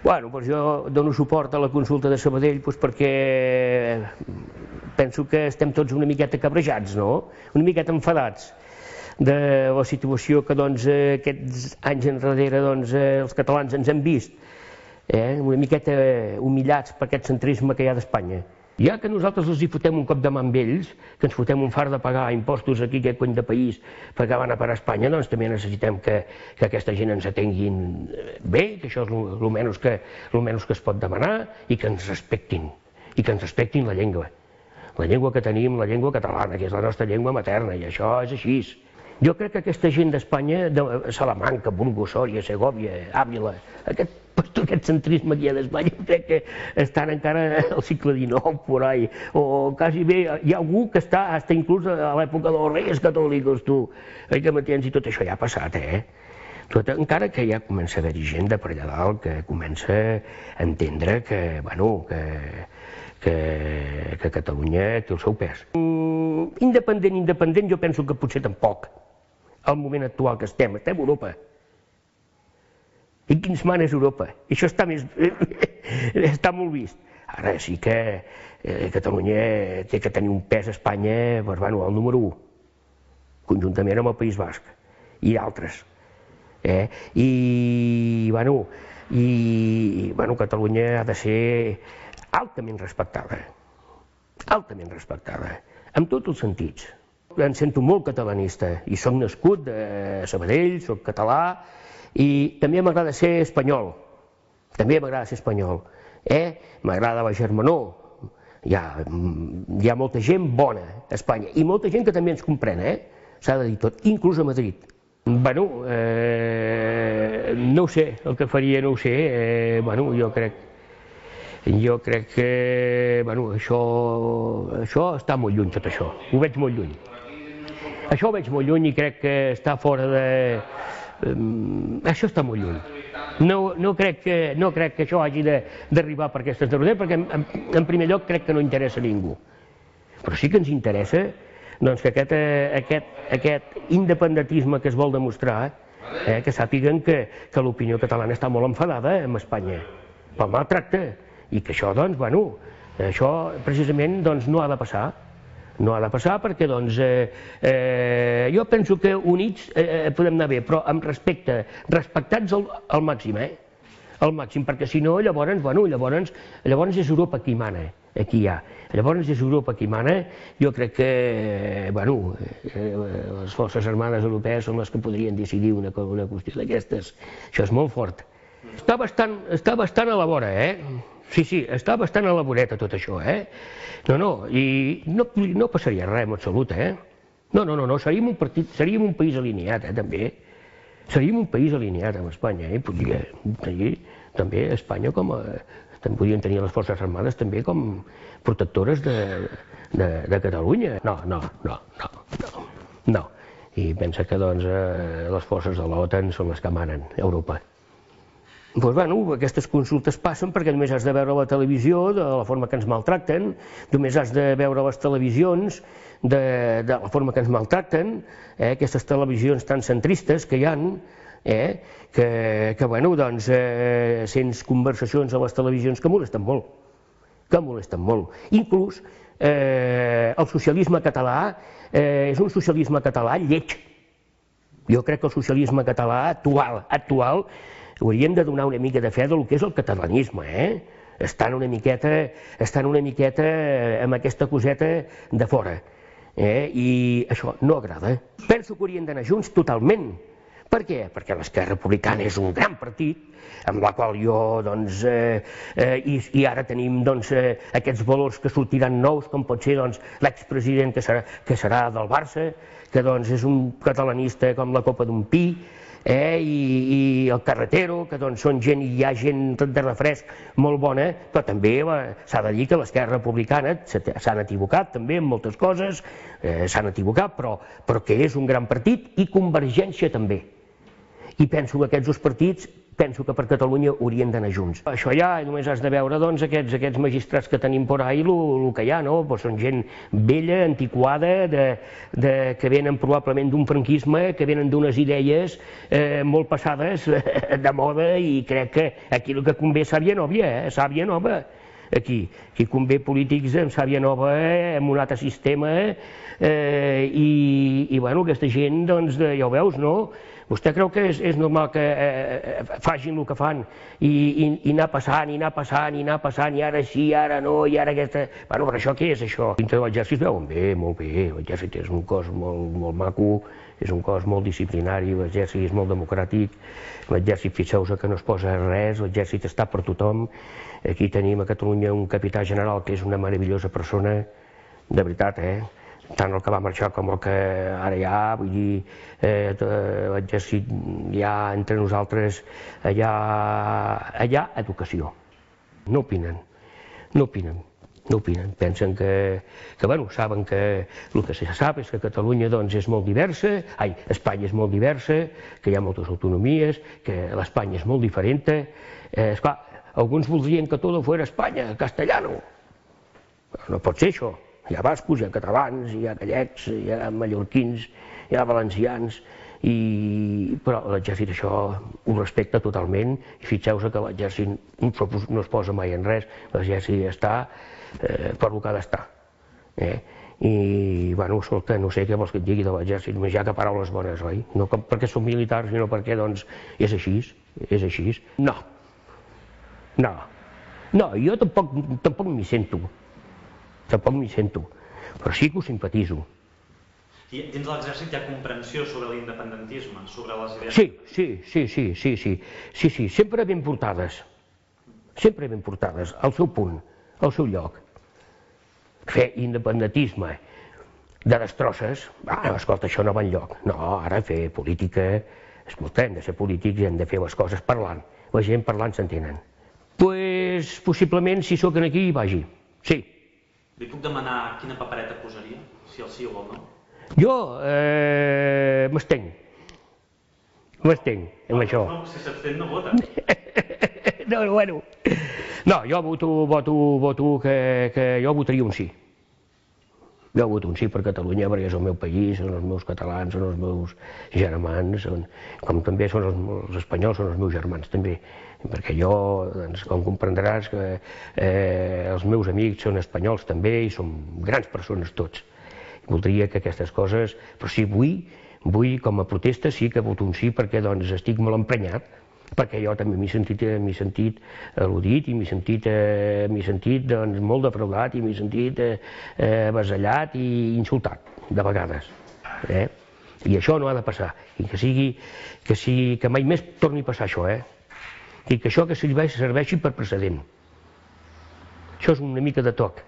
Bueno, doncs jo dono suport a la consulta de Sabadell perquè penso que estem tots una miqueta cabrejats, no? Una miqueta enfadats de la situació que aquests anys enrere els catalans ens hem vist, una miqueta humillats per aquest centrisme que hi ha d'Espanya. Ja que nosaltres els hi fotem un cop de mà amb ells, que ens fotem un fart de pagar impostos aquí, aquest cony de país, perquè van a parar a Espanya, doncs també necessitem que aquesta gent ens atenguin bé, que això és el menys que es pot demanar, i que ens respectin la llengua. La llengua que tenim, la llengua catalana, que és la nostra llengua materna, i això és així. Jo crec que aquesta gent d'Espanya, de Salamanca, Burgos, Sòria, Segòvia, Àvila, aquest centrisme que hi ha d'Espanya, crec que estan encara al segle XIX, por ahí, o quasi bé, hi ha algú que està inclús a l'època dels Reis Catòlics, tu, que m'entens, i tot això ja ha passat, encara que ja comença a haver-hi gent de per allà dalt que comença a entendre que Catalunya té el seu pes. Independent, jo penso que potser tampoc, al moment actual que estem a Europa. I qui ens mana és Europa. I això està molt vist. Ara sí que Catalunya té que tenir un pes a Espanya, el número 1, conjuntament amb el País Basc i d'altres. I Catalunya ha de ser altament respectada, en tots els sentits. Em sento molt catalanista i soc nascut a Sabadell, soc català i també m'agrada ser espanyol, m'agrada la germanor, hi ha molta gent bona a Espanya i molta gent que també ens comprèn, s'ha de dir tot, inclús a Madrid. No ho sé, el que faria no ho sé, jo crec que això està molt lluny, tot això, ho veig molt lluny. Això ho veig molt lluny i crec que està fora de... Això està molt lluny. No crec que això hagi d'arribar per aquestes derrotes, perquè en primer lloc crec que no interessa a ningú. Però sí que ens interessa que aquest independentisme que es vol demostrar, que sàpiguen que l'opinió catalana està molt enfadada amb Espanya, pel maltracte, i que això, això precisament no ha de passar. No ha de passar perquè, jo penso que units podem anar bé, però amb respecte, respectats al màxim, perquè si no, llavors és Europa qui mana, aquí hi ha. Llavors és Europa qui mana, jo crec que, les forces armades europees són les que podrien decidir una qüestió d'aquestes. Això és molt fort. Està bastant a la vora, Sí, està bastant a la voreta tot això, i no passaria res en absolut, No, seríem un país alineat, també. Seríem un país alineat amb Espanya, podria tenir també Espanya podrien tenir les forces armades també com protectores de Catalunya. No. I pensa que les forces de l'OTAN són les que manen a Europa. Aquestes consultes passen perquè només has de veure la televisió de la forma que ens maltracten, només has de veure les televisions de la forma que ens maltracten, aquestes televisions tan centristes que hi ha, sents conversacions a les televisions que molesten molt, Inclús el socialisme català és un socialisme català lleig. Jo crec que el socialisme català actual hauríem de donar una mica de fe del que és el catalanisme, estan una miqueta amb aquesta coseta de fora, i això no agrada. Penso que haurien d'anar junts totalment. Per què? Perquè l'Esquerra Republicana és un gran partit, amb la qual jo, i ara tenim aquests valors que sortiran nous, com pot ser l'expresident que serà del Barça, que és un catalanista com la copa d'un pi, i el Carretero, que són gent, i hi ha gent de refresc molt bona, però també s'ha de dir que l'Esquerra Republicana s'han equivocat també en moltes coses, però que és un gran partit, i Convergència també. I penso que aquests dos partits, penso que per Catalunya haurien d'anar junts. Això ja només has de veure doncs, aquests magistrats que tenim por ahí, el que hi ha, no? Pues són gent vella, antiquada, que venen probablement d'un franquisme, que venen d'unes idees molt passades de moda, i crec que aquí el que convé és sàvia nova, sàvia nova. Aquí convé polítics amb sàvia nova, amb un altre sistema, i bueno, aquesta gent, doncs, ja ho veus, no? Vostè creu que és normal que facin el que fan i anar passant, i anar passant, i anar passant, i ara sí, ara no, i ara aquesta... Bueno, però això què és, això? Dintre de l'exèrcit veuen bé, molt bé, l'exèrcit és un cos molt maco, és un cos molt disciplinari, l'exèrcit és molt democràtic, l'exèrcit, fixeu-vos que no es posa res, l'exèrcit està per tothom. Aquí tenim a Catalunya un capità general que és una meravellosa persona, de veritat, tant el que va marxar com el que ara hi ha, vull dir, l'exèrcit hi ha entre nosaltres, allà educació. No opinen, pensen que, bueno, saben que el que se sap és que Catalunya doncs és molt diversa, Espanya és molt diversa, que hi ha moltes autonomies, que l'Espanya és molt diferent. Esclar, alguns voldrien que tot fos Espanya, castellano. No pot ser això. Hi ha bascos, hi ha catalans, hi ha gallecs, hi ha mallorquins, hi ha valencians, però l'exèrcit això ho respecta totalment, i fixeu-vos que l'exèrcit no es posa mai en res, l'exèrcit està per el que ha d'estar. I, bueno, escolta, no sé què vols que et digui de l'exèrcit, només hi ha que paraules bones, oi? No perquè són militars, sinó perquè, doncs, és així, és així. No, jo tampoc m'hi sento. Però sí que ho simpatitzo. I dins de l'exèrcit hi ha comprensió sobre l'independentisme, sobre les idees? Sí, sempre ben portades, al seu punt, al seu lloc. Fer independentisme de destrosses, escolta, això no va enlloc. No, ara fer política, escolta, hem de ser polítics i hem de fer les coses parlant. La gent parlant s'entenen. Doncs possiblement, si sóc aquí, vagi, sí. Li puc demanar quina papereta posaria, si el sí o el no? Jo m'estenc amb això. No, si s'abstén no vota. No, bueno. No, jo voto que jo votaria un sí. Jo voto un sí per Catalunya perquè és el meu país, són els meus catalans, són els meus germans, com també són els espanyols, són els meus germans també. Perquè jo, com comprendràs, els meus amics són espanyols també i som grans persones tots. Voldria que aquestes coses, però sí, vull com a protesta sí que voto un sí perquè estic molt emprenyat, perquè jo també m'he sentit al·ludit i m'he sentit molt defraudat i m'he sentit avasallat i insultat, de vegades. I això no ha de passar, i que mai més torni a passar això, i que això que serveixi per precedent. Això és una mica de toc.